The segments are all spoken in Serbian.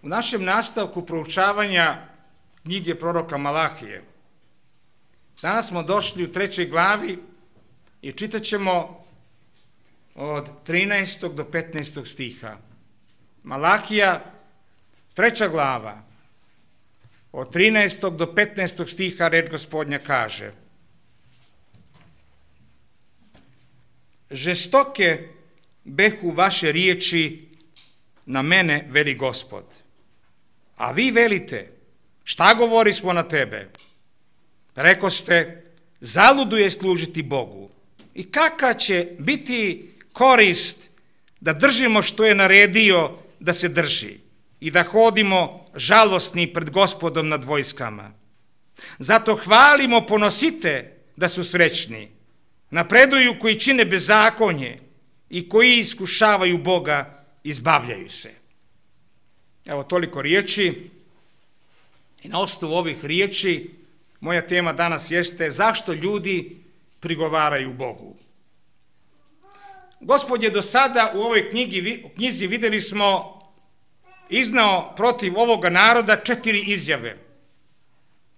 U našem nastavku proučavanja knjige proroka Malahije, danas smo došli u 3. glavi i čitat ćemo od 13. do 15. stiha. Malahija, 3. glava, od 13. do 15. stiha reč Gospodnja kaže: Žestoke behu vaše riječi na mene, veli Gospod. A vi velite, šta govorismo na tebe? Rekoste, zaludu je služiti Bogu. I kakva će biti korist da držimo što je naredio da se drži i da hodimo žalosni pred Gospodom nad vojskama. Zato hvalimo, ponosite da su srećni. Napreduju koji čine bezakonje i koji iskušavaju Boga, izbavljaju se. Evo toliko riječi. I na osnovu ovih riječi moja tema danas jeste zašto ljudi prigovaraju Bogu. Gospod je do sada u ovoj knjizi, vidjeli smo, iznao protiv ovoga naroda 4 izjave.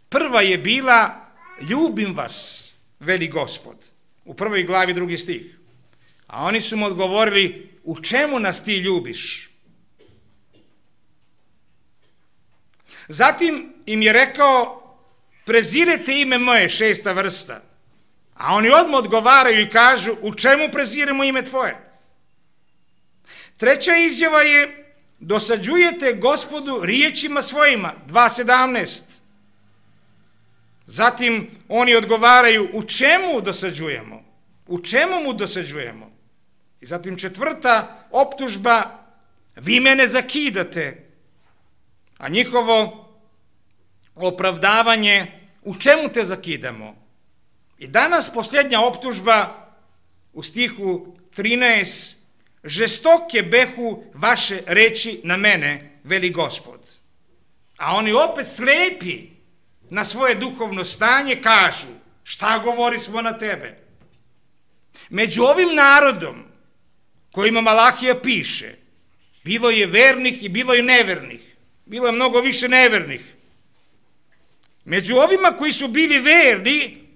Prva je bila, ljubim vas, veli Gospod, u 1. glavi 2. stih. A oni su mu odgovorili, u čemu nas ti ljubiš? Zatim im je rekao, prezirete ime moje, 6. vrsta. A oni odmah odgovaraju i kažu, u čemu preziremo ime tvoje? 3. izjava je, dosađujete Gospodu riječima svojima, 2.17. Zatim oni odgovaraju, u čemu dosađujemo? U čemu mu dosađujemo? I zatim 4. optužba, vi mene zakidate. A njihovo opravdavanje, u čemu te zakidamo? I danas posljednja optužba u stihu 13, žestoke behu vaše reči na mene, veli Gospod. A oni opet slepi na svoje duhovno stanje kažu, šta govorismo na tebe? Među ovim narodom kojima Malahija piše, bilo je vernih i bilo je nevernih. Bilo je mnogo više nevernih. Među ovima koji su bili verni,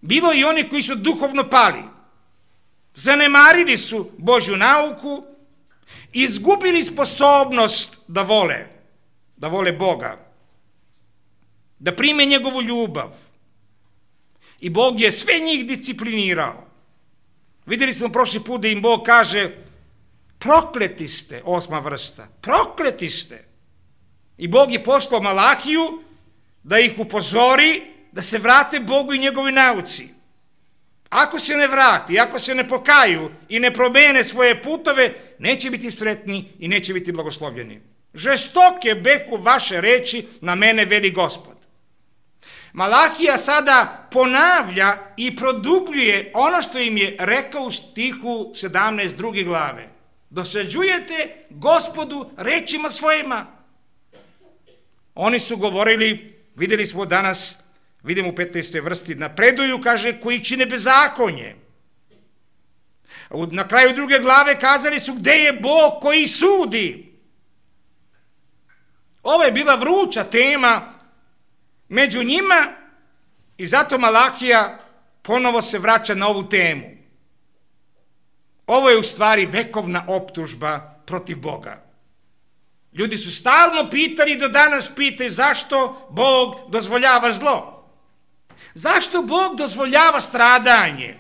bilo je i oni koji su duhovno pali. Zanemarili su Božju nauku, izgubili sposobnost da vole Boga, da prime njegovu ljubav. I Bog je sve njih disciplinirao. Vidjeli smo prošli put da im Bog kaže, prokleti ste, 8. vrsta, prokleti ste. I Bog je poslao Malahiju da ih upozori da se vrate Bogu i njegovi nauci. Ako se ne vrati, ako se ne pokaju i ne promene svoje putove, neće biti sretni i neće biti blagoslovljeni. Žestoke behu vaše reči na mene, veli Gospod. Malahija sada ponavlja i produbljuje ono što im je rekao u stihu 17. 2. glave. Dosađujete Gospodu rečima svojima. Oni su govorili, vidjeli smo danas, vidimo u 15. vrsti, napreduju, kaže, koji čine bezakonje. Na kraju 2. glave kazali su, gde je Bog koji sudi? Ovo je bila vruća tema među njima i zato Malahija ponovo se vraća na ovu temu. Ovo je u stvari vekovna optužba protiv Boga. Ljudi su stalno pitali i do danas pitaju zašto Bog dozvoljava zlo. Zašto Bog dozvoljava stradanje?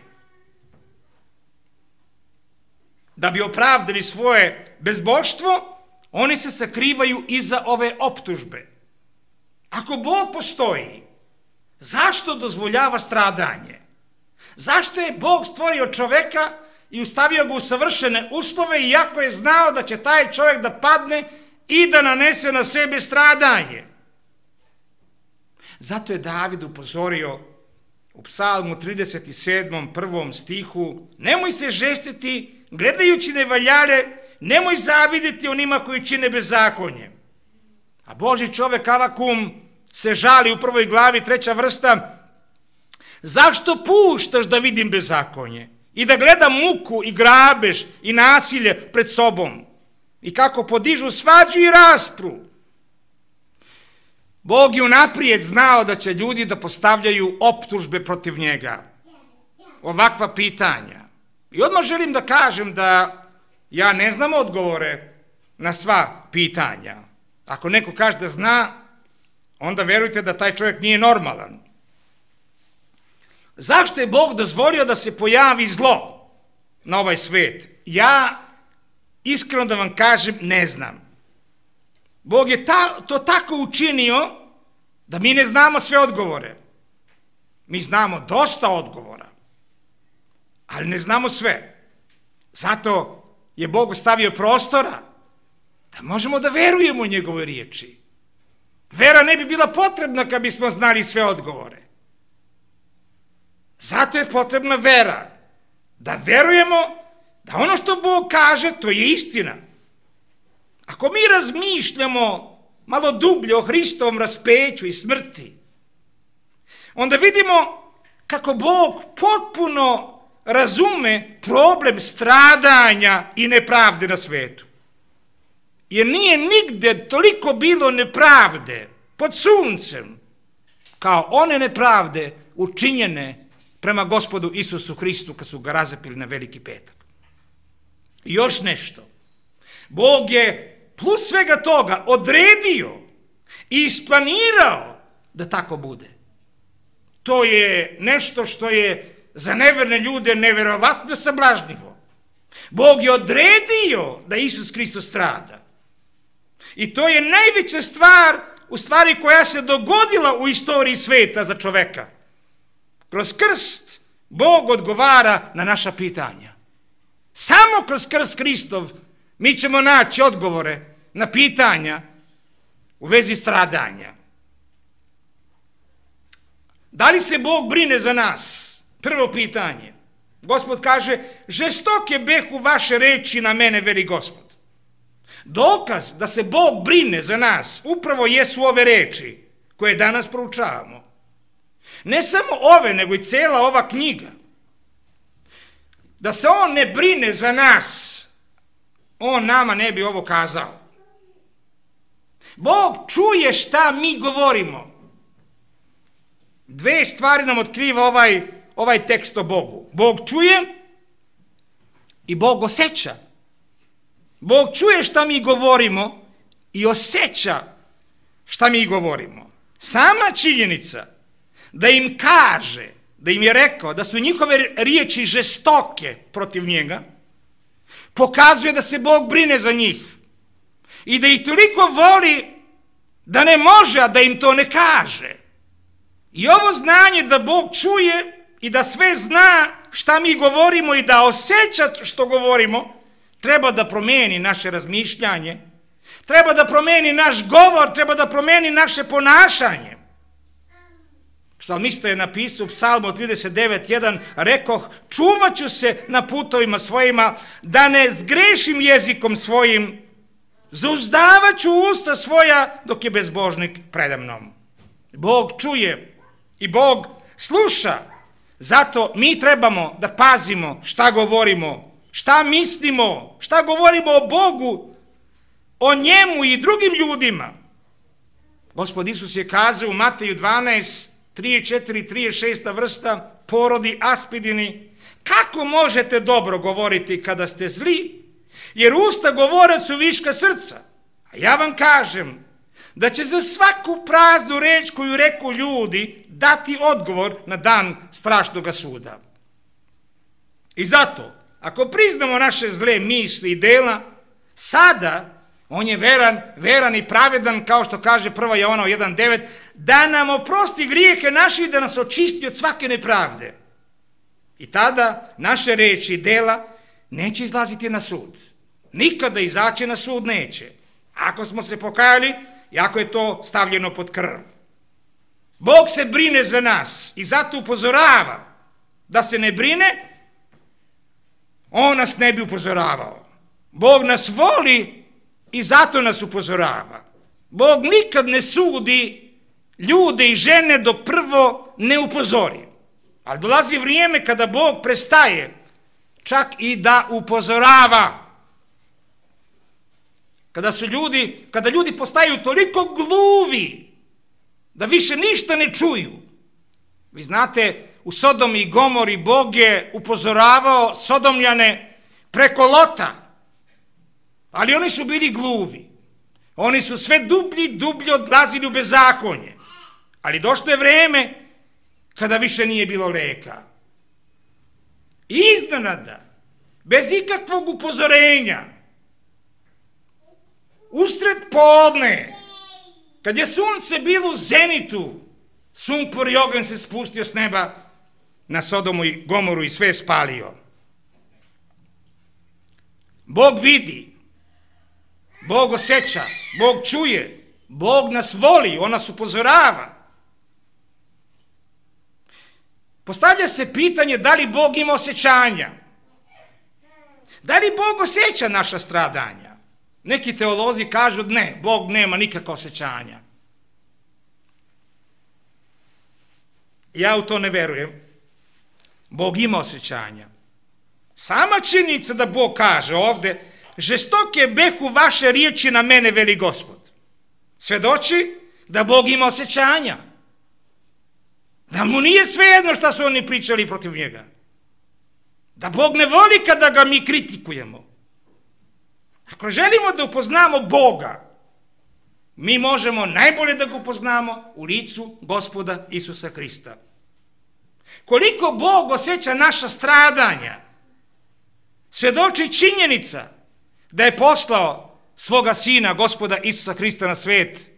Da bi opravdali svoje bezbožstvo, oni se sakrivaju iza ove optužbe. Ako Bog postoji, zašto dozvoljava stradanje? Zašto je Bog stvorio čoveka i ustavio ga u savršene uslove iako je znao da će taj čovjek da padne i da nanese na sebe stradanje? Zato je David upozorio u Psalmu 37. 1. stihu, nemoj se žestiti gledajući nevaljare, nemoj zaviditi onima koji čine bezakonje. A Božji čovjek Avakum se žali u 1. glavi 3. vrsta, zašto puštaš da vidim bezakonje i da gledam muku i grabež i nasilje pred sobom i kako podižu svađu i raspru Bog je unaprijed znao da će ljudi da postavljaju optužbe protiv njega. Ovakva pitanja. I odmah želim da kažem da ja ne znam odgovore na sva pitanja. Ako neko kaže da zna, onda verujte da taj čovjek nije normalan. Zašto je Bog dozvolio da se pojavi zlo na ovaj svet? Ja, iskreno da vam kažem, ne znam. Bog je to tako učinio da mi ne znamo sve odgovore. Mi znamo dosta odgovora, ali ne znamo sve. Zato je Bog ostavio prostora da možemo da verujemo u njegove riječi. Vera ne bi bila potrebna kad bismo znali sve odgovore. Zato je potrebna vera. Da verujemo da ono što Bog kaže, to je istina. Ako mi razmišljamo malo dublje o Hristovom raspeću i smrti, onda vidimo kako Bog potpuno razume problem stradanja i nepravde na svetu. Jer nije nigde toliko bilo nepravde pod suncem kao one nepravde učinjene prema Gospodu Isusu Hristu kad su ga razapili na Veliki petak. I još nešto. Bog je plus svega toga odredio i isplanirao da tako bude. To je nešto što je za neverne ljude neverovatno sablažnjivo. Bog je odredio da Isus Hristos strada. I to je najveća stvar, u stvari koja se dogodila u istoriji sveta za čoveka. Kroz krst Bog odgovara na naša pitanja. Samo kroz krst Hristov mi ćemo naći odgovore na pitanja u vezi stradanja. Da li se Bog brine za nas? Prvo pitanje. Gospod kaže, žestoke behu vaše reči na mene, veli Gospod. Dokaz da se Bog brine za nas upravo jesu ove reči koje danas proučavamo. Ne samo ove, nego i cela ova knjiga. Da se On ne brine za nas, On nama ne bi ovo kazao. Bog čuje šta mi govorimo. Dve stvari nam otkriva ovaj tekst o Bogu. Bog čuje i Bog osjeća. Bog čuje šta mi govorimo i osjeća šta mi govorimo. Sama činjenica da im kaže, da im je rekao da su njihove riječi žestoke protiv njega, pokazuje da se Bog brine za njih i da ih toliko voli da ne može, a da im to ne kaže. I ovo znanje da Bog čuje i da sve zna šta mi govorimo i da osjeća što govorimo, treba da promijeni naše razmišljanje, treba da promijeni naš govor, treba da promijeni naše ponašanje. Psalmista je napisao u Psalmu 39:1, rekoh, čuvat ću se na putovima svojima, da ne zgrešim jezikom svojim, zauzdavat ću usta svoja dok je bezbožnik predamnom. Bog čuje i Bog sluša, zato mi trebamo da pazimo šta govorimo, šta mislimo, šta govorimo o Bogu, o njemu i drugim ljudima. Gospod Isus je kazao u Mateju 12:34, 36 vrsta, porodi aspidini, kako možete dobro govoriti kada ste zli, jer usta govore su viška srca. A ja vam kažem da će za svaku praznu reč koju reku ljudi dati odgovor na dan strašnog suda. I zato, ako priznamo naše zle misli i dela, sada on je veran i pravedan, kao što kaže 1. Jovanov 1:9, da nam oprosti grijehe naše i da nas očisti od svake nepravde. I tada naše reči i dela neće izlaziti na sud. Nikada izaći na sud neće. Ako smo se pokajali i ako je to stavljeno pod krv. Bog se brine za nas i zato upozorava. Da se ne brine, On nas ne bi upozoravao. Bog nas voli i zato nas upozorava. Bog nikad ne sudi ljude i žene dok prvo ne upozori. Ali dolazi vrijeme kada Bog prestaje čak i da upozorava. Kada ljudi postaju toliko gluvi da više ništa ne čuju. Vi znate, u Sodomi i Gomori Bog je upozoravao Sodomljane preko Lota, ali oni su bili gluvi. Oni su sve dublje odlazili u bezakonje. Ali došlo je vreme kada više nije bilo leka. I iznenada, bez ikakvog upozorenja, usred podne, kad je sunce bilo u zenitu, sumpor i oganj se spustio s neba na Sodomu i Gomoru i sve spalio. Bog vidi, Bog osjeća, Bog čuje, Bog nas voli, on nas upozorava. Postavlja se pitanje da li Bog ima osjećanja. Da li Bog osjeća naša stradanja? Neki teolozi kažu ne, Bog nema nikakva osjećanja. Ja u to ne verujem. Bog ima osjećanja. Sama činjenica da Bog kaže ovde, žestoke behu vaše riječi na mene, veli Gospod, svedoči da Bog ima osjećanja. Da mu nije svejedno šta su oni pričali protiv njega. Da Bog ne voli kada ga mi kritikujemo. Ako želimo da upoznamo Boga, mi možemo najbolje da ga upoznamo u licu Gospoda Isusa Hrista. Koliko Bog osjeća naša stradanja, svedoči činjenica da je poslao svoga Sina, Gospoda Isusa Hrista na svet,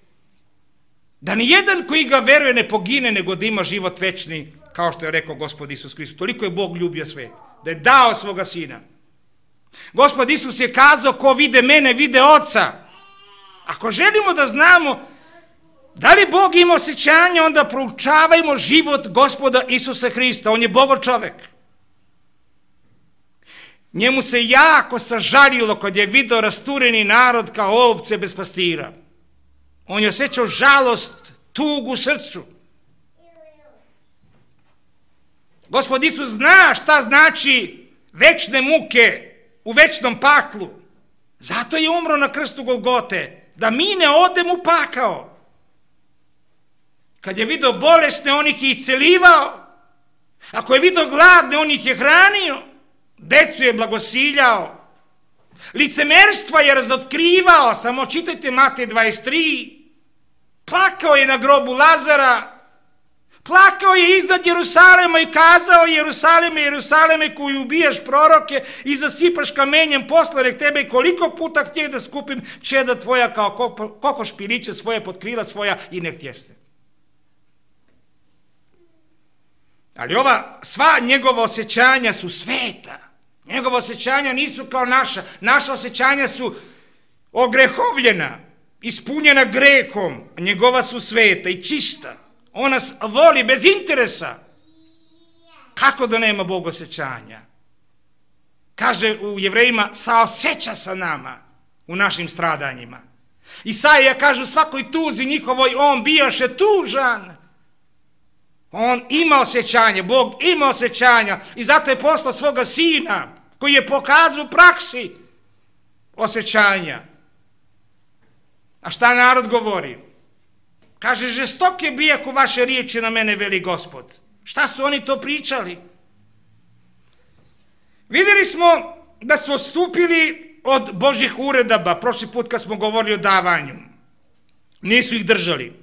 da ni jedan koji ga veruje ne pogine, nego da ima život večni, kao što je rekao Gospod Isus Hrist. Toliko je Bog ljubio svet, da je dao svoga Sina. Gospod Isus je kazao, ko vide mene, vide Oca. Ako želimo da znamo da li Bog ima osjećanja, onda proučavajmo život Gospoda Isusa Hrista. On je Bogo čovek. Njemu se jako sažalilo kad je video rastureni narod kao ovce bez pastira. On je osjećao žalost, tugu u srcu. Gospod Isus zna šta znači večne muke u večnom paklu. Zato je umro na krstu Golgote, da mi ne odemo u pakao. Kad je video bolesne, on ih je iscelivao. Ako je video gladne, on ih je hranio. Decu je blagosiljao. Licemerstva je razotkrivao, samo čitajte Matej 23. Plakao je na grobu Lazara. Plakao je iznad Jerusalema i kazao, Jerusaleme, Jerusaleme, koji ubijaš proroke i zasipaš kamenjem posle tebe, koliko puta htjeh da skupim čeda tvoja kao kokoš piliće svoje pod krila svoja i ne htjeste. Ali ova sva njegova osjećanja su sveta. Njegova osjećanja nisu kao naša. Naša osjećanja su ogrehovljena, ispunjena grehom. Njegova su sveta i čista. On nas voli bez interesa. Kako da nema Bog osjećanja? Kaže u Jevrejima, saosjeća sa nama u našim stradanjima. Isaija kaže u svakoj tuzi njihovoj, on bijaše tužan. On ima osjećanje, Bog ima osjećanja i zato je poslao svoga Sina koji je pokazao u praksi osjećanja. A šta narod govori? Kaže, žestoke bijahu vaše riječi na mene, veli Gospod. Šta su oni to pričali? Vidjeli smo da su odstupili od Božjih uredaba, prošli put kad smo govorili o davanju. Nisu ih držali.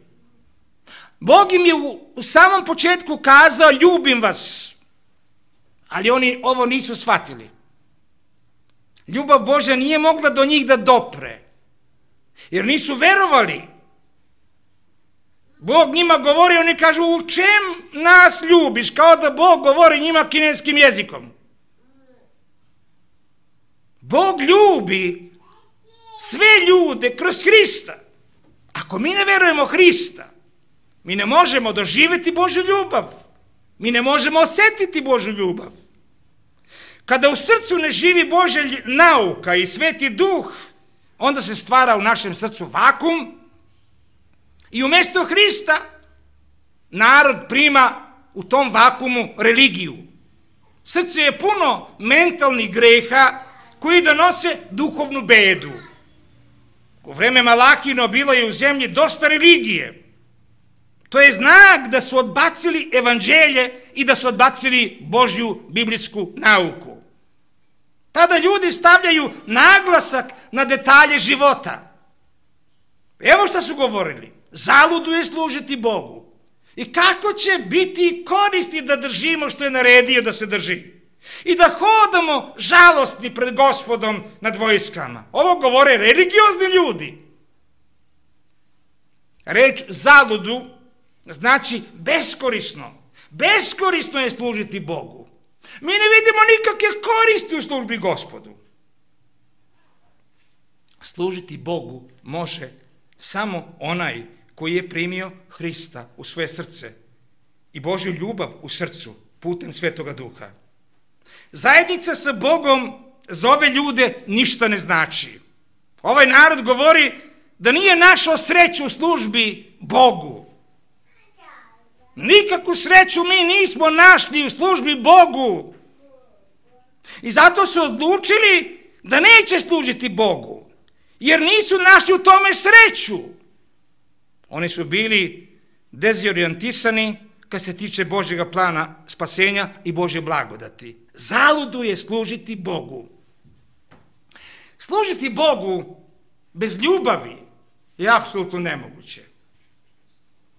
Bog im je u samom početku kazao, ljubim vas, ali oni ovo nisu shvatili. Ljubav Božja nije mogla do njih da dopre, jer nisu verovali. Bog njima govori, oni kažu, u čem nas ljubiš? Kao da Bog govori njima kineskim jezikom. Bog ljubi sve ljude kroz Hrista. Ako mi ne verujemo Hrista, mi ne možemo doživjeti Božju ljubav. Mi ne možemo osjetiti Božju ljubav. Kada u srcu ne živi Božja nauka i Sveti Duh, onda se stvara u našem srcu vakum i umjesto Hrista narod prima u tom vakumu religiju. Srce je puno mentalnih greha koji donose duhovnu bedu. U vreme Malahino bilo je u zemlji dosta religije. To je znak da su odbacili evanđelje i da su odbacili Božju biblijsku nauku. Tada ljudi stavljaju naglasak na detalje života. Evo što su govorili. Zaludu je služiti Bogu. I kako će biti koristi da držimo što je naredio da se drži. I da hodamo žalostni pred Gospodom nad vojskama. Ovo govore religiozni ljudi. Reč zaludu znači beskorisno. Beskorisno je služiti Bogu. Mi ne vidimo nikakve koristi u službi Gospodu. Služiti Bogu može samo onaj koji je primio Hrista u svoje srce i Božju ljubav u srcu putem Svetoga Duha. Zajednica sa Bogom za ove ljude ništa ne znači. Ovaj narod govori da nije našao sreću u službi Bogu. Nikakvu sreću mi nismo našli u službi Bogu. I zato su odlučili da neće služiti Bogu, jer nisu našli u tome sreću. Oni su bili dezorijentisani kad se tiče Božjega plana spasenja i Božje blagodati. Zaludu je služiti Bogu. Služiti Bogu bez ljubavi je apsolutno nemoguće.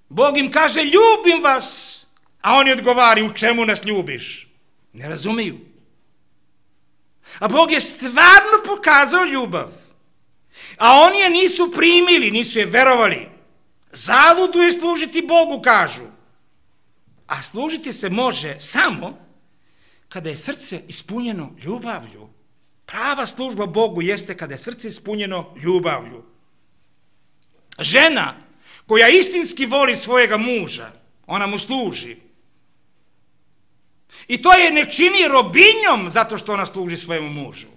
Bog im kaže, ljubim vas, a oni odgovaraju, u čemu nas ljubiš? Ne razumiju. A Bog je stvarno pokazao ljubav, a oni je nisu primili, nisu je verovali. Zaludu je služiti Bogu, kažu. A služiti se može samo kada je srce ispunjeno ljubavlju. Prava služba Bogu jeste kada je srce ispunjeno ljubavlju. Žena koja istinski voli svojega muža, ona mu služi. I to je ne čini robinjom zato što ona služi svojemu mužu,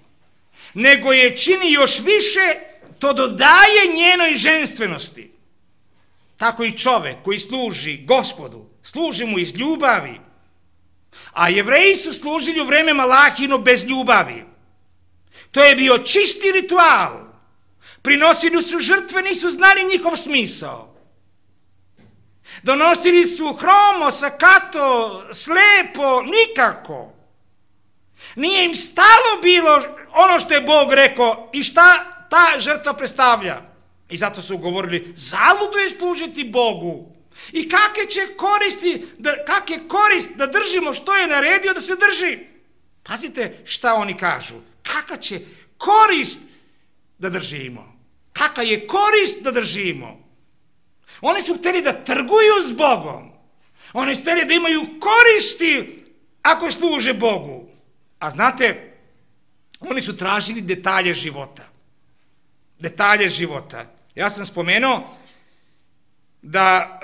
nego je čini još više, to dodaje njenoj ženstvenosti. Tako i čovek koji služi Gospodu, služi mu iz ljubavi. A Jevreji su služili u vreme Malahino bez ljubavi. To je bio čisti ritual. Prinosili su žrtve, nisu znali njihov smisao. Donosili su hromo, sakato, slepo, nikako. Nije im stalo bilo ono što je Bog rekao i šta ta žrtva predstavlja. I zato su govorili, zaludu je služiti Bogu. I kakve korist da držimo što je naredio da se drži. Pazite šta oni kažu. Kakva će korist da držimo? Kakva je korist da držimo? Oni su htjeli da trguju s Bogom. Oni su htjeli da imaju koristi ako služe Bogu. A znate, oni su tražili detalje života. Detalje života. Ja sam spomenuo da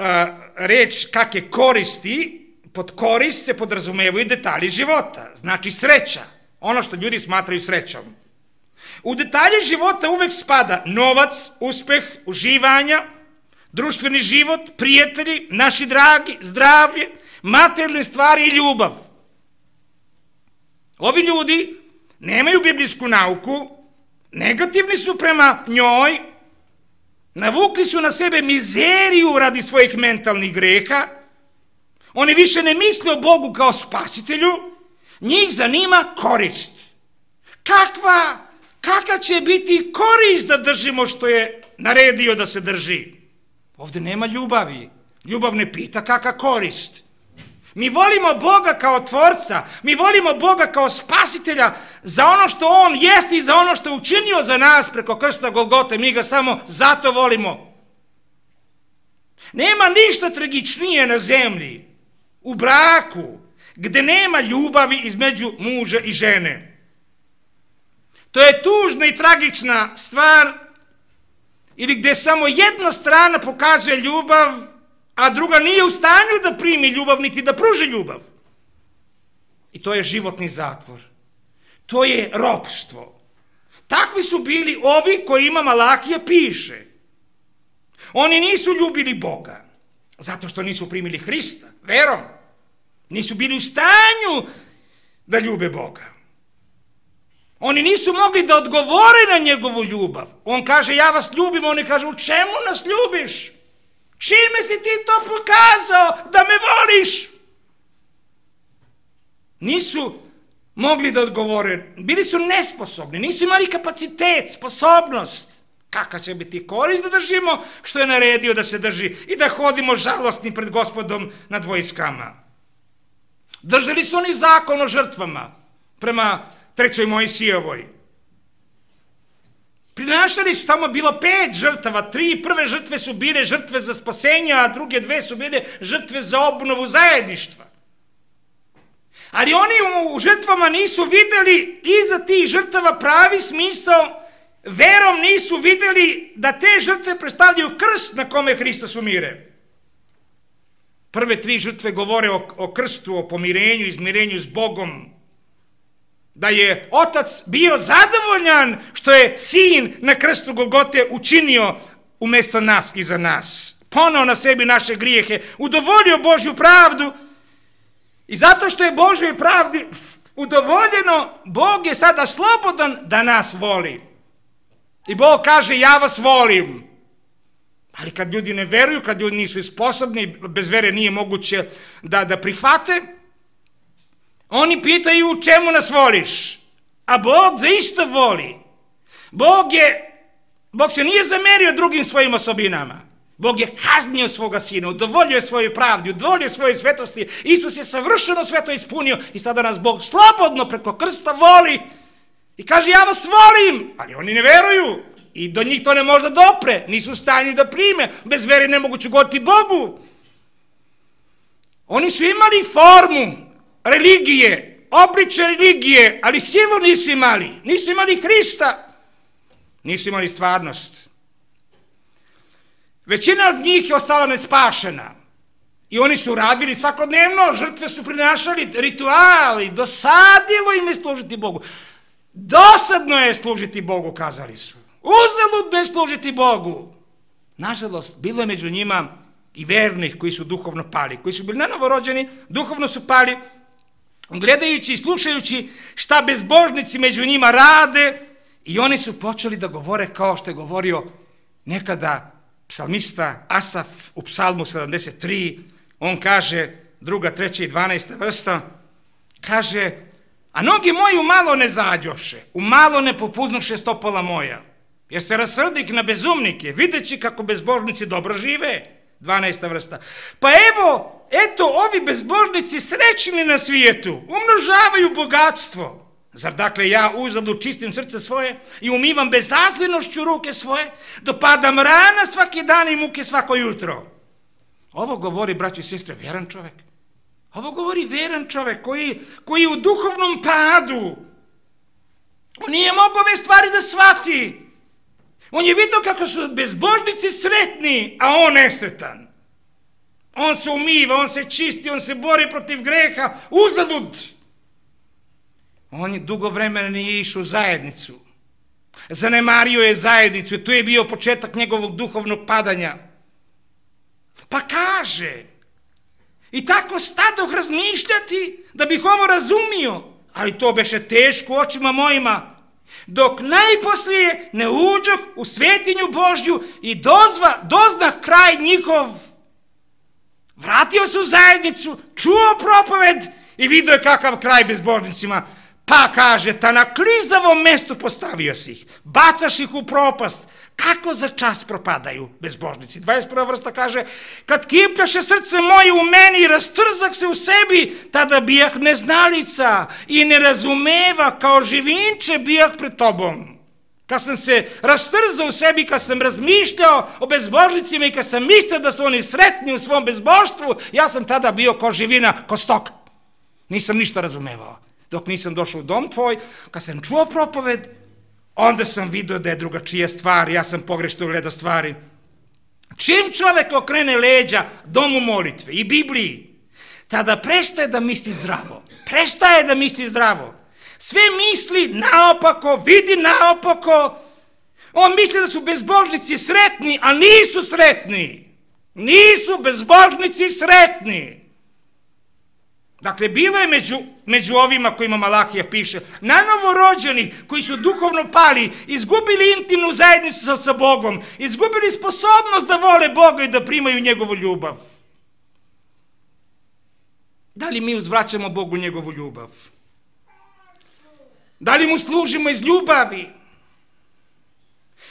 reč kakve koristi, pod korist se podrazumevaju detalji života. Znači sreća. Ono što ljudi smatraju srećom. U detalje života uvek spada novac, uspeh, uživanja, društveni život, prijatelji, naši dragi, zdravlje, materijalne stvari i ljubav. Ovi ljudi nemaju biblijsku nauku, negativni su prema njoj, navukli su na sebe mizeriju radi svojih mentalnih greha, oni više ne misle o Bogu kao spasitelju, njih zanima korist. Kakva će biti korist da držimo što je naredio da se drži? Ovdje nema ljubavi. Ljubav ne pita kakva korist. Mi volimo Boga kao tvorca, mi volimo Boga kao spasitelja za ono što On jeste i za ono što je učinio za nas preko krsta Golgote, mi ga samo zato volimo. Nema ništa tragičnije na zemlji, u braku, gde nema ljubavi između muža i žene. To je tužna i tragična stvar, ili gde samo jedna strana pokazuje ljubav, a druga nije u stanju da primi ljubav, niti da pruži ljubav. I to je životni zatvor. To je ropstvo. Takvi su bili ovi kojima Malahija piše. Oni nisu ljubili Boga, zato što nisu primili Hrista, verom. Nisu bili u stanju da ljube Boga. Oni nisu mogli da odgovore na njegovu ljubav. On kaže, ja vas ljubim, oni kažu, u čemu nas ljubiš? Čime si ti to pokazao da me voliš? Nisu mogli da odgovore, bili su nesposobni, nisu imali kapacitet, sposobnost. Kakva će biti korist da držimo što je naredio da se drži i da hodimo žalostni pred Gospodom nad vojskama. Držali su oni zakon o žrtvama prema 3. Mojsijevoj. Prinašali su, tamo bilo 5 žrtava, 3 prve žrtve su bile žrtve za spasenje, a druge 2 su bile žrtve za obnovu zajedništva. Ali oni u žrtvama nisu videli iza tih žrtava pravi smisao, verom nisu videli da te žrtve predstavljaju krst na kome Hristos umire. Prve 3 žrtve govore o krstu, o pomirenju, izmirenju s Bogom. Da je Otac bio zadovoljan što je Sin na krstu Golgote učinio umjesto nas i za nas. Poneo na sebi naše grijehe, udovoljio Božju pravdu i zato što je Božjoj pravdi udovoljeno, Bog je sada slobodan da nas voli. I Bog kaže, ja vas volim. Ali kad ljudi ne veruju, kad ljudi nisu sposobni, bez vere nije moguće da prihvate, oni pitaju čemu nas voliš, a Bog zaista voli. Bog se nije zamerio drugim svojim osobinama. Bog je kaznio svoga Sina, udovoljio je svoju pravdi, udovoljio svoje svetosti. Isus je savršeno sve to ispunio i sada nas Bog slobodno preko krsta voli i kaže ja vas volim, ali oni ne veruju i do njih to ne može da dopre, nisu u stanju da prime, bez vere nemoguće ugoditi Bogu. Oni su imali formu religije, obliče religije, ali silu nisu imali Hrista, nisu imali stvarnost. Većina od njih je ostala nespašena i oni su radili svakodnevno, žrtve su prinašali, rituali, dosadilo im je služiti Bogu. Dosadno je služiti Bogu, kazali su. Uzaludno je služiti Bogu. Nažalost, bilo je među njima i vernih koji su duhovno pali, koji su bili novorođeni, duhovno su pali, gledajući i slušajući šta bezbožnici među njima rade i oni su počeli da govore kao što je govorio nekada psalmista Asaf u psalmu 73. On kaže, 2., 3. i 12. vrsta, kaže, a noge moji umalo ne zađoše, umalo ne popuznuše stopala moja, jer se rasrdik na bezumnike, videći kako bezbožnici dobro žive. 12. vrsta. Pa eto, ovi bezbožnici srećni na svijetu, umnožavaju bogatstvo. Zar dakle ja uzalud čistim srce svoje i umivam bezazlenošću ruke svoje, dopadam rana svaki dan i muke svako jutro. Ovo govori, braći i sestre, vjeran čovjek. Ovo govori vjeran čovjek koji je u duhovnom padu. On nije mogao ove stvari da shvati. On je vidio kako su bezbožnici sretni, a on nesretan. On se umiva, on se čisti, on se bori protiv greha, uzalud. On je dugo vremena nije išao u zajednicu. Zanemario je zajednicu, tu je bio početak njegovog duhovnog padanja. Pa kaže, i tako stadoh razmišljati da bih ovo razumio, ali to beše teško očima mojima, dok najposlije ne uđoh u svetinju Božju i dozna kraj njihov. Vratio se u zajednicu, čuo propoved i vidio je kakav kraj bezbožnicima. Pa kaže, ta na klizavom mestu postavio si ih, bacaš ih u propast, kako za čas propadaju bezbožnici. 21. vrsta kaže, kad kipljaše srce moje u meni i rastrzak se u sebi, tada bijah neznalica i nerazumeva, kao živinče bijah pred tobom. Kad sam se rastrzao u sebi, kad sam razmišljao o bezbožnicima i kad sam mislio da su oni sretni u svom bezbožstvu, ja sam tada bio kao živina, kao stok. Nisam ništa razumevao. Dok nisam došao u dom tvoj, kad sam čuo propoved, onda sam vidio da je drugačija stvar, ja sam pogrešno gledao stvari. Čim čovjek okrene leđa domu molitve i Bibliji, tada prestaje da misli zdravo. Prestaje da misli zdravo. Sve misli naopako, vidi naopako. On misli da su bezbožnici sretni, a nisu sretni. Nisu bezbožnici sretni. Dakle, bilo je među ovima kojima Malahija piše, na novorođeni koji su duhovno pali, izgubili intimnu zajednicu sa Bogom, izgubili sposobnost da vole Boga i da primaju njegovu ljubav. Da li mi uzvraćamo Bogu njegovu ljubav? Da li mu služimo iz ljubavi?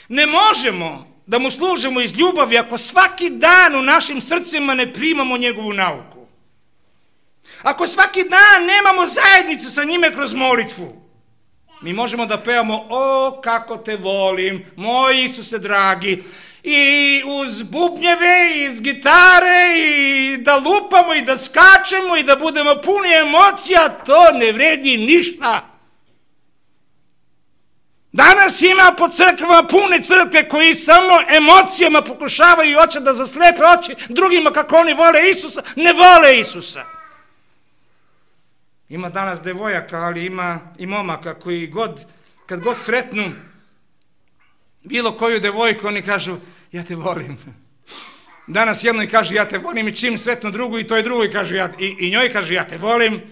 Ne možemo da mu služimo iz ljubavi ako svaki dan u našim srcima ne primamo njegovu nauku. Ako svaki dan nemamo zajednicu sa njime kroz molitvu, mi možemo da pevamo o kako te volim, moj Isuse dragi, i uz bubnjeve, i iz gitare, i da lupamo, i da skačemo, i da budemo puni emocija, to ne vredi ništa. Danas ima po crkvama pune crkve koji samo emocijama pokušavaju i hoće da zaslepe oči drugima kako oni vole Isusa, ne vole Isusa. Ima danas devojaka, ali ima i momaka koji kad god sretnu bilo koju devojku, oni kažu, ja te volim. Danas jednoj kaže, ja te volim, i čim sretnu drugu, i toj drugoj kažu, i njoj kaže, ja te volim.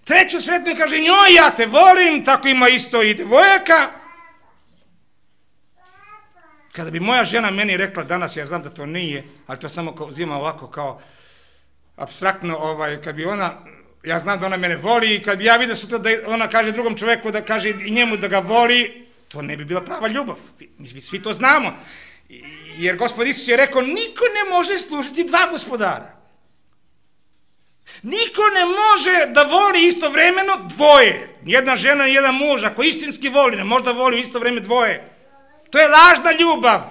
Treću sretnu i kaže, njoj, ja te volim, tako ima isto i devojaka. Kada bi moja žena meni rekla danas, ja znam da to nije, ali to samo uzima ovako kao apstraktno, kad bi ona, ja znam da ona mene voli, i kad bi ja vidio sutra da ona kaže drugom čoveku da kaže i njemu da ga voli, to ne bi bila prava ljubav. Mi svi to znamo. Jer Gospod Isus je rekao, niko ne može služiti dva gospodara. Niko ne može da voli istovremeno dvoje. Jedna žena i jedan muž, ako istinski voli, ne može da voli u isto vreme dvoje. To je lažna ljubav.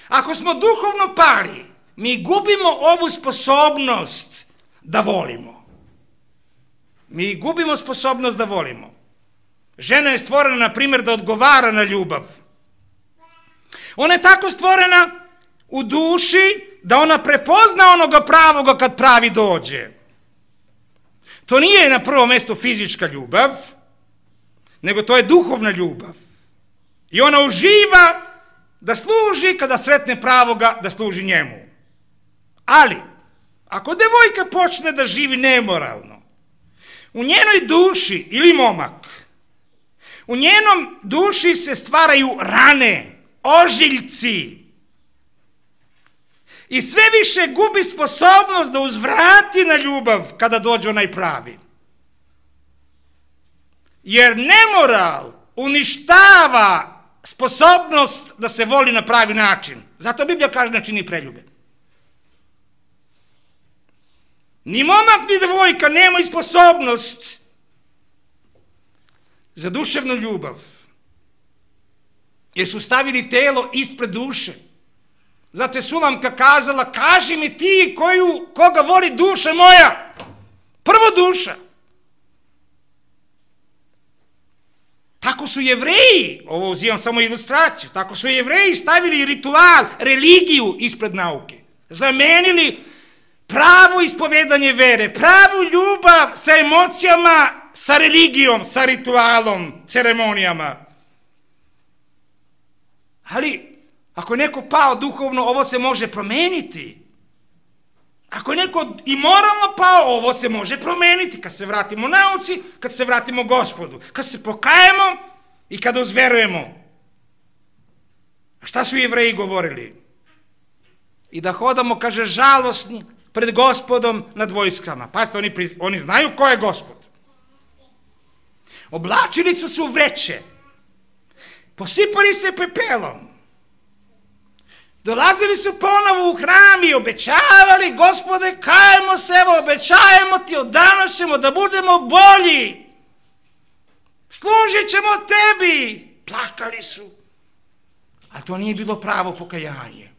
Ako smo duhovno pali, mi gubimo ovu sposobnost da volimo. Mi gubimo sposobnost da volimo. Žena je stvorena, na primjer, da odgovara na ljubav. Ona je tako stvorena u duši da ona prepozna onoga pravoga kad pravi dođe. To nije na prvom mjestu fizička ljubav, nego to je duhovna ljubav. I ona uživa da služi kada sretne pravoga, da služi njemu. Ali, ako devojka počne da živi nemoralno, u njenoj duši, ili momak, u njenom duši se stvaraju rane, ožiljci. I sve više gubi sposobnost da uzvrati na ljubav kada dođe onaj pravi. Jer nemoral uništava sposobnost da se voli na pravi način. Zato Biblija kaže ne čini preljube. Ni momak ni devojka nemaju sposobnost za duševnu ljubav. Jer su stavili telo ispred duše. Zato je Sulamka kazala, kaži mi ti koga voli duša moja. Prvo duša. Tako su Jevreji, ovo uzimam samo ilustraciju, tako su Jevreji stavili ritual, religiju ispred nauke. Zamenili pravo ispovedanje vere, pravu ljubav sa emocijama, sa religijom, sa ritualom, ceremonijama. Ali, ako je neko pao duhovno, ovo se može promeniti. Ako je neko i moralno pao, ovo se može promeniti. Kad se vratimo nauci, kad se vratimo Gospodu, kad se pokajemo i kada uzverujemo. Šta su Jevreji govorili? I da hodamo, kaže, žalosni pred Gospodom nad vojskama. Pazite, oni znaju ko je Gospod. Oblačili su se u vreće. Posipali se pepelom. Dolazili su ponovo u hram i obećavali, Gospode, kajemo se, evo, obećajemo ti, od danas ćemo da budemo bolji. Služit ćemo tebi. Plakali su. Ali to nije bilo pravo pokajanje.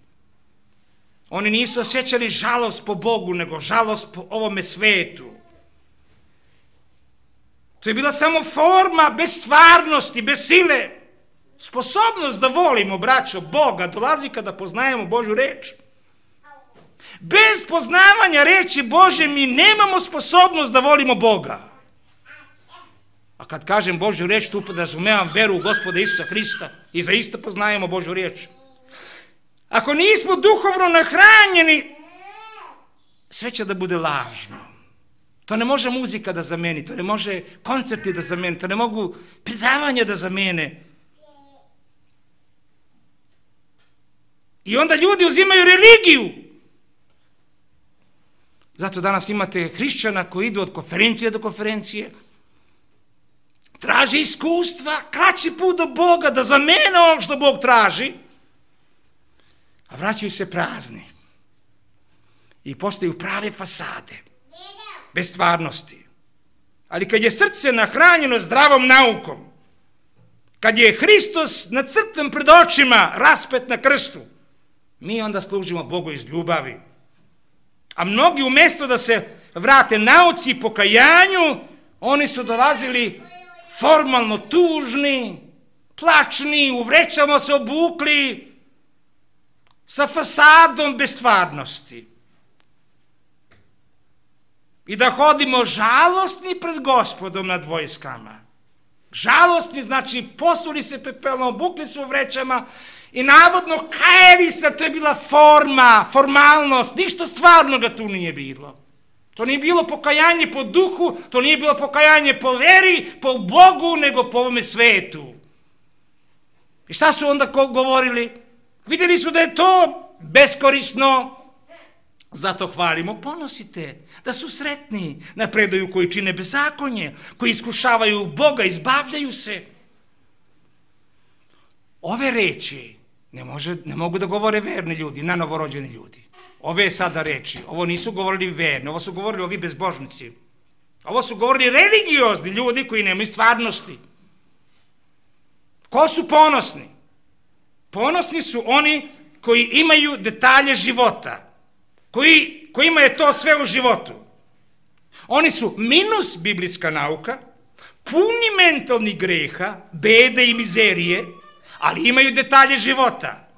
Oni nisu osjećali žalost po Bogu, nego žalost po ovome svetu. To je bila samo forma bez stvarnosti, bez sile. Sposobnost da volimo, braćo, Boga dolazi kada poznajemo Božju reč. Bez poznavanja reči Božje mi nemamo sposobnost da volimo Boga. A kad kažem Božju reč, tu podrazumevam veru u Gospoda Isusa Hrista i zaista poznajemo Božju reč. Ako nismo duhovno nahranjeni, sve će da bude lažno. To ne može muzika da zameni, to ne može koncerti da zameni, to ne mogu predavanja da zamene. I onda ljudi uzimaju religiju. Zato danas imate hrišćana koji idu od konferencije do konferencije, traže iskustva, kraći put do Boga, da zamene ono što Bog traži, a vraćaju se prazni. I postaju prave fasade, bez stvarnosti. Ali kad je srce nahranjeno zdravom naukom, kad je Hristos nacrtan pred očima, raspet na krstu, mi onda služimo Bogu iz ljubavi. A mnogi umjesto da se vrate nauci i pokajanju, oni su dolazili formalno tužni, plačni, u vrećama se obukli, sa fasadom bez stvarnosti. I da hodimo žalostni pred Gospodom nad vojskama. Žalostni znači posuli se pepelom, obukli su u vrećama i navodno kajali se, to je bila forma, formalnost, ništa stvarnoga tu nije bilo. To nije bilo pokajanje po duhu, to nije bilo pokajanje po veri, po Bogu, nego po ovome svetu. I šta su onda govorili? Vidjeli su da je to beskorisno, zato hvalimo, ponosite, da su sretni, napreduju koji čine bezakonje, koji iskušavaju Boga, izbavljaju se. Ove reči ne mogu da govore verni ljudi, na novorođeni ljudi. Ove sada reči, ovo nisu govorili verni, ovo su govorili ovi bezbožnici. Ovo su govorili religiozni ljudi koji nemaju stvarnosti. Ko su ponosni? Ponosni su oni koji imaju detalje života, kojima je to sve u životu. Oni su minus biblijska nauka, puni mentalnih greha, bede i mizerije, ali imaju detalje života.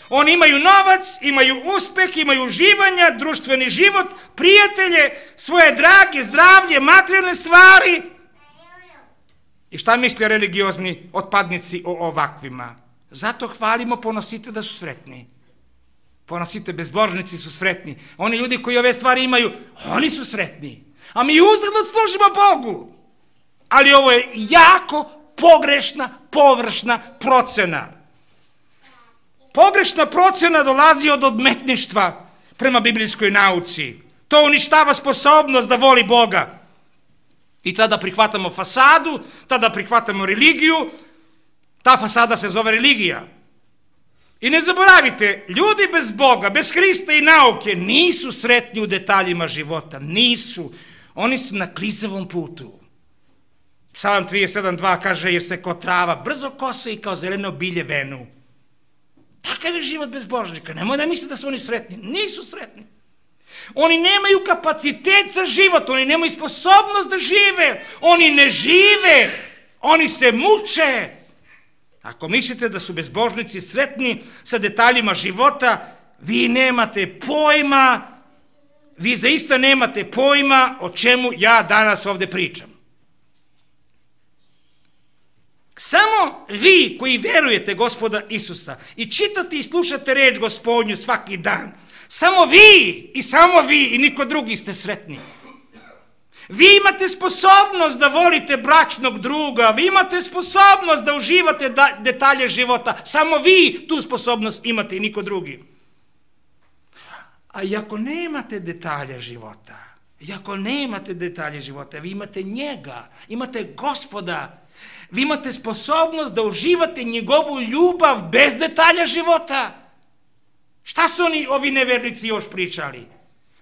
Oni imaju novac, imaju uspeh, imaju uživanja, društveni život, prijatelje, svoje drage, zdravlje, materijalne stvari. I šta misle religiozni otpadnici o ovakvima? Zato hvalimo, ponosite da su sretni. Ponosite, bezbožnici su sretni. Oni ljudi koji ove stvari imaju, oni su sretni. A mi uzalud služimo Bogu. Ali ovo je jako pogrešna, površna procena. Pogrešna procena dolazi od odmetništva prema biblijskoj nauci. To uništava sposobnost da voli Boga. I tada prihvatamo fasadu, tada prihvatamo religiju. Ta fasada se zove religija. I ne zaboravite, ljudi bez Boga, bez Hrista i nauke nisu sretni u detaljima života. Nisu. Oni su na klizavom putu. Psalam 37.2 kaže, jer se kao trava brzo kose i kao zeleno bilje venu. Takav je život bezbožnika. Nemoj da misle da su oni sretni. Nisu sretni. Oni nemaju kapacitet za život. Oni nemaju sposobnost da žive. Oni ne žive. Oni se muče. Ako mislite da su bezbožnici sretni sa detaljima života, vi nemate pojma, vi zaista nemate pojma o čemu ja danas ovdje pričam. Samo vi koji verujete Gospoda Isusa i čitate i slušate reč Gospodnju svaki dan, samo vi i niko drugi ste sretni. Vi imate sposobnost da volite bračnog druga, vi imate sposobnost da uživate detalje života, samo vi tu sposobnost imate i niko drugi. A i ako nemate detalje života, vi imate njega, imate Gospoda, vi imate sposobnost da uživate njegovu ljubav bez detalja života. Šta su ovi nevernici još pričali?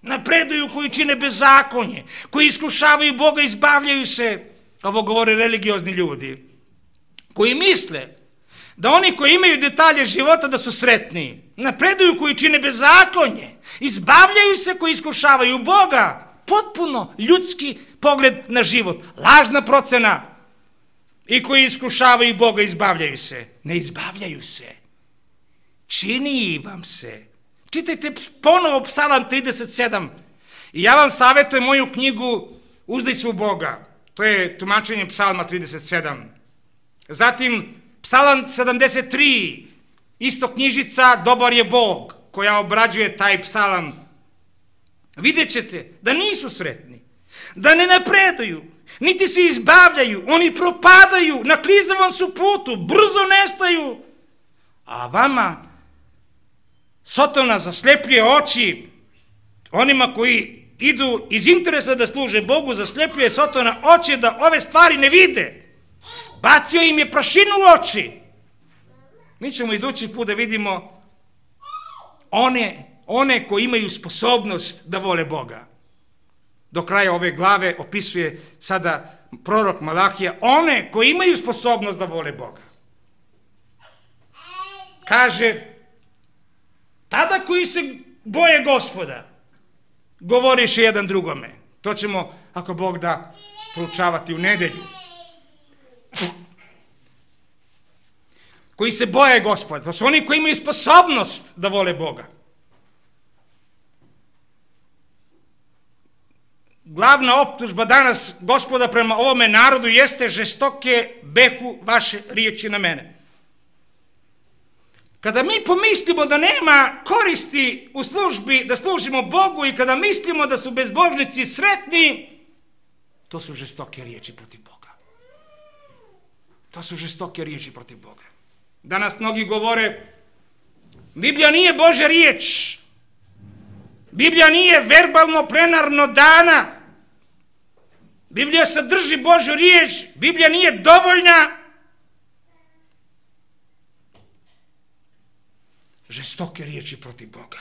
Napreduju koji čine bezakonje, koji iskušavaju Boga, izbavljaju se. Ovo govore religiozni ljudi, koji misle da oni koji imaju detalje života da su sretni. Napreduju koji čine bezakonje, izbavljaju se koji iskušavaju Boga. Potpuno ljudski pogled na život, lažna procena. I koji iskušavaju Boga, izbavljaju se. Ne izbavljaju se. Čini vam se. Čitajte ponovo Psalam 37. I ja vam savjetujem moju knjigu Uzdaj se u Boga. To je tumačenje Psalma 37. Zatim Psalam 73. Isto knjižica Dobar je Bog, koja obrađuje taj psalam. Vidjet ćete da nisu sretni. da ne napreduju, niti se izbavljaju, oni propadaju, na klizavom su putu, brzo nestaju. A vama Sotona zaslepljuje oči, onima koji idu iz interesa da služe Bogu, zaslepljuje Sotona oči da ove stvari ne vide. Bacio im je prašinu u oči. Mi ćemo idući put da vidimo one koji imaju sposobnost da vole Boga. Do kraja ove glave opisuje sada prorok Malahija one koji imaju sposobnost da vole Boga. Kaže, tada koji se boje Gospoda, govoriše jedan drugome. To ćemo, ako Bog da, proučavati u nedelju. Koji se boje Gospoda, to su oni koji imaju sposobnost da vole Boga. Glavna optužba danas Gospoda prema ovome narodu jeste žestoke behu vaše riječi na mene. Kada mi pomislimo da nema koristi u službi, da služimo Bogu i kada mislimo da su bezbožnici sretni, to su žestoke riječi protiv Boga. To su žestoke riječi protiv Boga. Danas mnogi govore, Biblija nije Božja riječ. Biblija nije verbalno plenarno dana. Biblija sadrži Božju riječ. Biblija nije dovoljna. Žestoke riječi protiv Boga.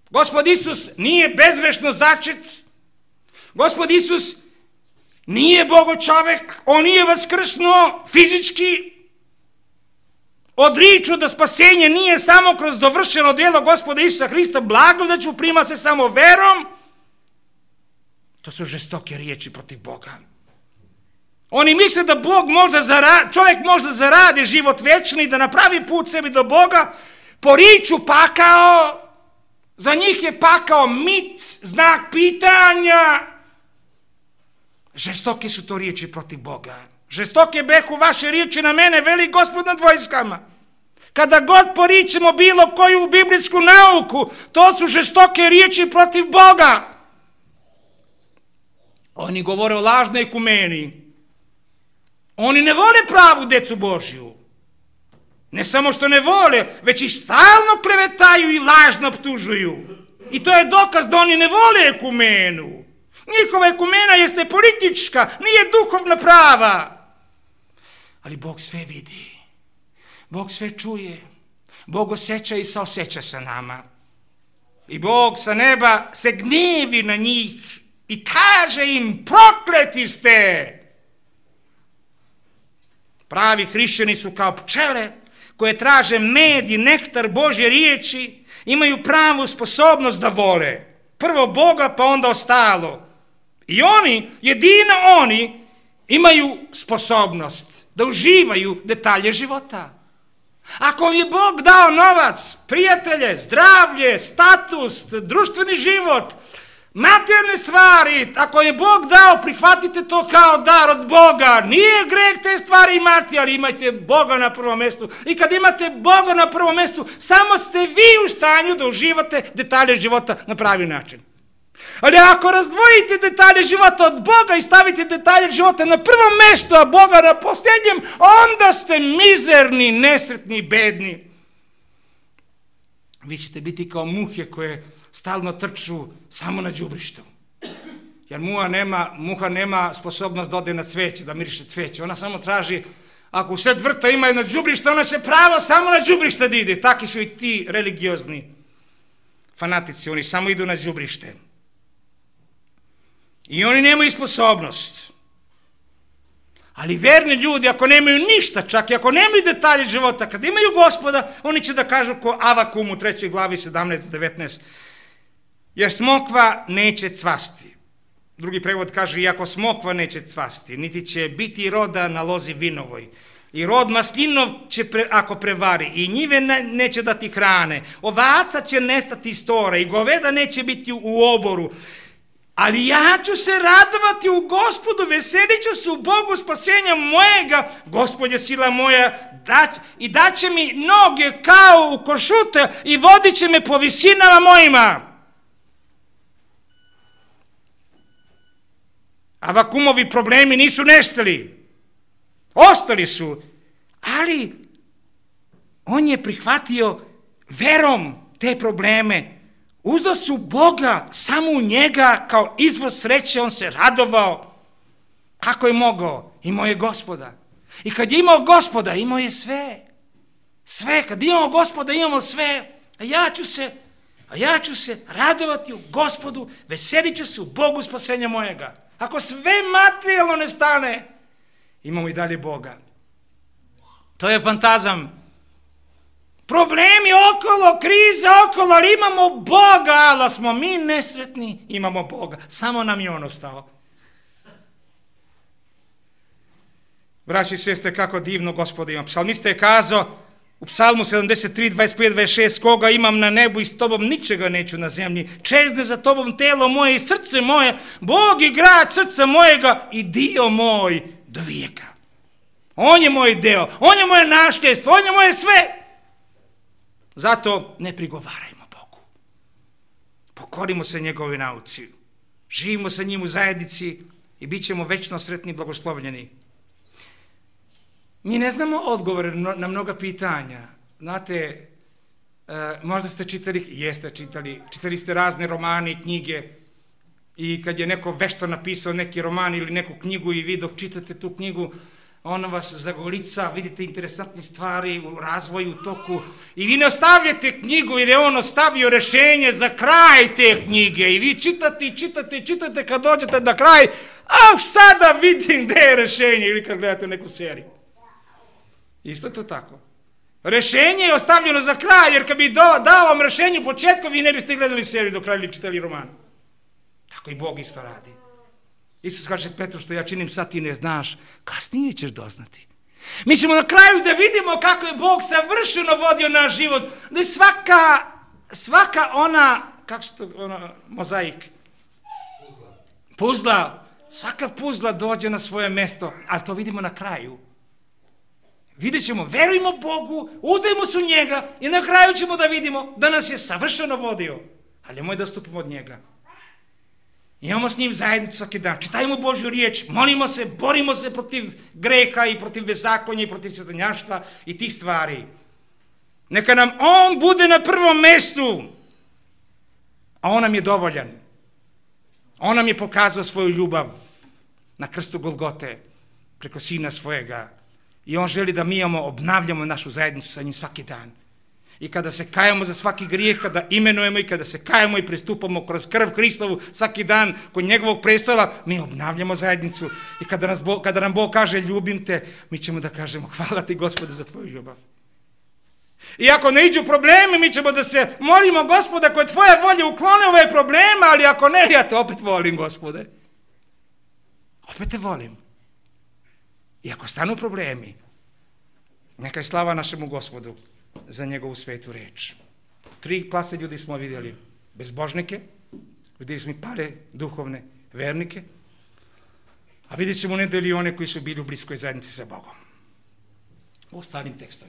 Gospod Isus nije bezgrešno začet. Gospod Isus nije Bogo čovek. On nije vaskrsnuo fizički. Odriču da spasenje nije samo kroz dovršeno djelo Gospoda Isusa Hrista, blagodaću prima se samo verom. To su žestoke riječi protiv Boga. Oni misle da čovjek možda zaradi život večni, da napravi put sebi do Boga, poriču pakao, za njih je pakao mit, znak pitanja. Žestoke su to riječi protiv Boga. Žestoke behu vaše riječi na mene, veli Gospod nad vojskama. Kada god poričemo bilo koju biblijsku nauku, to su žestoke riječi protiv Boga. Oni govore o lažnoj ekumeni. Oni ne vole pravu decu Božju. Ne samo što ne vole, već i stalno klevetaju i lažno optužuju. I to je dokaz da oni ne vole ekumenu. Njihova ekumena jeste politička, nije duhovna prava. Ali Bog sve vidi. Bog sve čuje. Bog osjeća i saosjeća sa nama. I Bog sa neba se gnevi na njih i kaže im, prokleti ste. Pravi hrišćani su kao pčele koje traže med i nektar Božje riječi, imaju pravu sposobnost da vole. Prvo Boga, pa onda ostalo. I oni, jedino oni, imaju sposobnost da uživaju detalje života. Ako vam je Bog dao novac, prijatelje, zdravlje, status, društveni život, materijalne stvari, ako je Bog dao, prihvatite to kao dar od Boga. Nije greh te stvari imati, ali imajte Boga na prvom mjestu. I kad imate Boga na prvom mjestu, samo ste vi u stanju da uživate detalje života na pravi način. Ali ako razdvojite detalje života od Boga i stavite detalje života na prvom mjestu, a Boga na posljednjem, onda ste mizerni, nesretni i bedni. Vi ćete biti kao muhe koje stalno trču samo na đubrištu. Jer muha nema sposobnost da ode na cveće, da miriše cveće. Ona samo traži, ako u sred vrta ima jedno đubrište, ona će pravo samo na đubrište da ide. Taki su i ti religiozni fanatici, oni samo idu na đubrište. I oni nemaju sposobnost. Ali verni ljudi, ako nemaju ništa, čak i ako nemaju detalje života, kad imaju Gospoda, oni će da kažu ko Avakum u 3. glavi 17-19. Jer smokva neće cvasti. Drugi prevod kaže, iako smokva neće cvasti, niti će biti roda na lozi vinovoj. I rod maslinov će, ako prevari, i njive neće dati hrane. Ovaca će nestati iz tora i goveda neće biti u oboru. Ali ja ću se radovati u Gospodu, veselit ću se u Bogu spasenja mojega. Gospod je sila moja i daće mi noge kao u košute i vodit će me po visinama mojima. A vakumovi problemi nisu nestali. Ostali su. Ali on je prihvatio verom te probleme. Uzdao se u Boga, samo u njega, kao izvor sreće, on se radovao. Kako je mogao? Imao je Gospoda. I kad je imao Gospoda, imao je sve. Sve, kad imamo Gospoda, imamo sve. A ja ću se radovati u Gospodu, veselit ću se u Bogu spasenja mojega. Ako sve materijalno ne stane, imamo i dalje Boga. To je fantazam. Problemi okolo, kriza okolo, ali imamo Boga, ali smo mi nesretni, imamo Boga. Samo nam je on ostao. Braći i sestre, kako divno Gospoda ima. Psalmista je kazao u Psalmu 73, 25, 26, koga imam na nebu i s tobom ničega neću na zemlji. Čezne za tobom telo moje i srce moje, Bog i grad srca mojega i dio moj do vijeka. On je moj deo, on je moje nasljedstvo, on je moje sve. Zato ne prigovarajmo Bogu. Pokorimo se njegovoj nauci. Živimo sa njim u zajednici i bit ćemo večno sretni i blagoslovljeni. Mi ne znamo odgovore na mnoga pitanja. Znate, možda ste čitali, čitali ste razne romane i knjige i kad je neko vešto napisao neki roman ili neku knjigu i vi dok čitate tu knjigu, ona vas zagolica, vidite interesantne stvari u razvoju, u toku i vi ne ostavljate knjigu jer je on ostavio rešenje za kraj te knjige i vi čitate kad dođete na kraj, sada vidim gde je rešenje ili kad gledate neku seriju. Isto to tako. Rešenje je ostavljeno za kraj, jer kad bi dao vam rešenje u početku, vi ne biste gledali seriju do kraja ili čitali roman. Tako i Bog isto radi. Isus kaže Petru, što ja činim sad ti ne znaš, kasnije ćeš doznati. Mi ćemo na kraju da vidimo kako je Bog savršeno vodio naš život, da je svaka ona, kako se to, mozaik, puzla, svaka puzla dođe na svoje mesto, ali to vidimo na kraju. Vidjet ćemo, verujemo Bogu, udajmo se u njega i na kraju ćemo da vidimo da nas je savršeno vodio, ali nemoj da stupimo od njega. Imamo s njim zajednicu svaki dan, čitajmo Božju riječ, molimo se, borimo se protiv greha i protiv bezakonja i protiv svetonjaštva i tih stvari. Neka nam on bude na prvom mestu, a on nam je dovoljan. On nam je pokazao svoju ljubav na krstu Golgote preko sina svojega i on želi da mi obnavljamo našu zajednicu sa njim svaki dan. I kada se kajemo za svaki grijeh, kada imenujemo i kada se kajemo i pristupamo kroz krv Hristovu svaki dan kod njegovog prestola, mi obnavljamo zajednicu. I kada nam Bog kaže ljubim te, mi ćemo da kažemo hvala ti Gospode za tvoju ljubav. I ako ne iđu problemi, mi ćemo da se molimo Gospoda koje tvoja volja uklone ove probleme, ali ako ne, ja te opet volim Gospode. Opet te volim. I ako stanu problemi, neka je slava našemu Gospodu za njegovu svetu reč. 3 klase ljudi smo vidjeli. Bezbožnike, vidjeli smo i pale duhovne vernike, a vidjet ćemo u nedelji one koji su bili u bliskoj zajednici sa Bogom. U ostalim tekstovima.